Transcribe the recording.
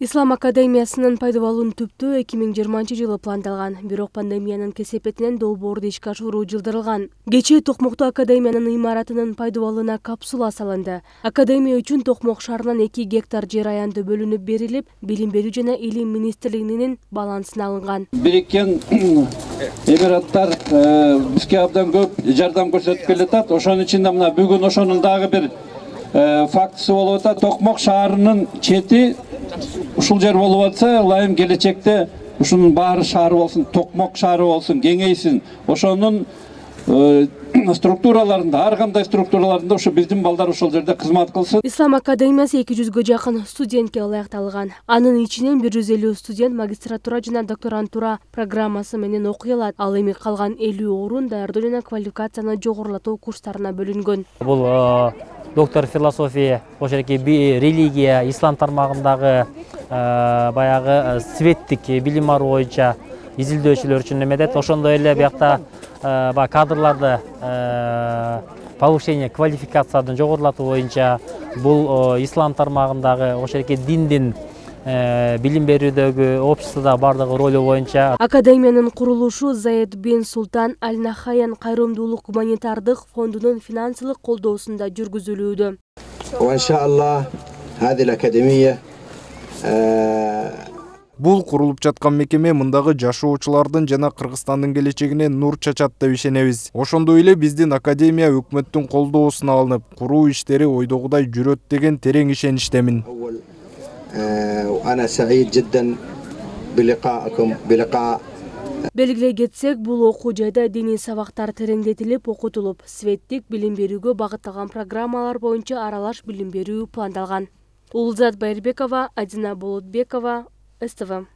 Ислам академиясынын пайдалануун түптөө 2020-жылы пландалган, бирок пандемиянын кесепетинен долбоорду ишке ашыруу жылдырылган. Кечээ Токмокту академиянын имаратынын пайдаланууна капсула салынды. Академия үчүн Токмок шаарынан 2 гектар жер аянты бөлүнүп берилип, Билим берүү жана Илим министрлигинин балансына алынган. Бириккен эмираттар бизге абдан көп жардам көрсөтүп келатат. Ошонун ичинде мына бүгүн ошонун дагы бир фактысы болуп атат. Токмок шаарынын чети ушул жер болуп атса, ылайым келечекте ушунун баары шаар болсун, Токмок шаары болсун, кеңейсин. Ошонун структураларында, ар кандай структураларында ушу биздин балдар ошол жерде кызмат кылсын. Ислам академиясы 200гө жакын студентке ылайыкталган. Анын ичинен 150 студент магистратура жана докторантура программасы менен окуй алат. Ал эми калган 50 орун даярдоо жана квалификацияны жогорулатуу курстарына бөлүнгөн. Бул доктор философия, ошоки религия, ислам тармагындагы баягы светтик билим алуу боюнча изилдөөчүлөр үчүн эмедет. Ошондой эле биякта кадрларды повышение квалификациянын жогорулатуу боюнча бул ислам тармагындагы ошоки диндин билим берүүдөгү обществодо бардыгы ролу боюнча. Академиянын курулушу Заид бин Султан Аль Нахаян кайрымдуулук гуманитардык фондунун финансылык колдоосунда жүргүзүлүүдө. Иншаллах, хадил академия Бул курулуп жаткан мекеме мындагы жашоочулардын жана Кыргызстандын келечегине нур чачат деп ишенебиз. Ошондой эле биздин академия өкмөттүн колдоосуна алынып, куруу иштери ойдогудай жүрөт деген терең ишеничтемин. Белгилей кетсек, бул окуу жайда диний сабактар тереңдетилип, окутулуп, светтик билим берүүгө багытталган программалар боюнча аралаш билим берүү пландалган. Улзат Байырбекова, Адина Болотбекова, СТВ.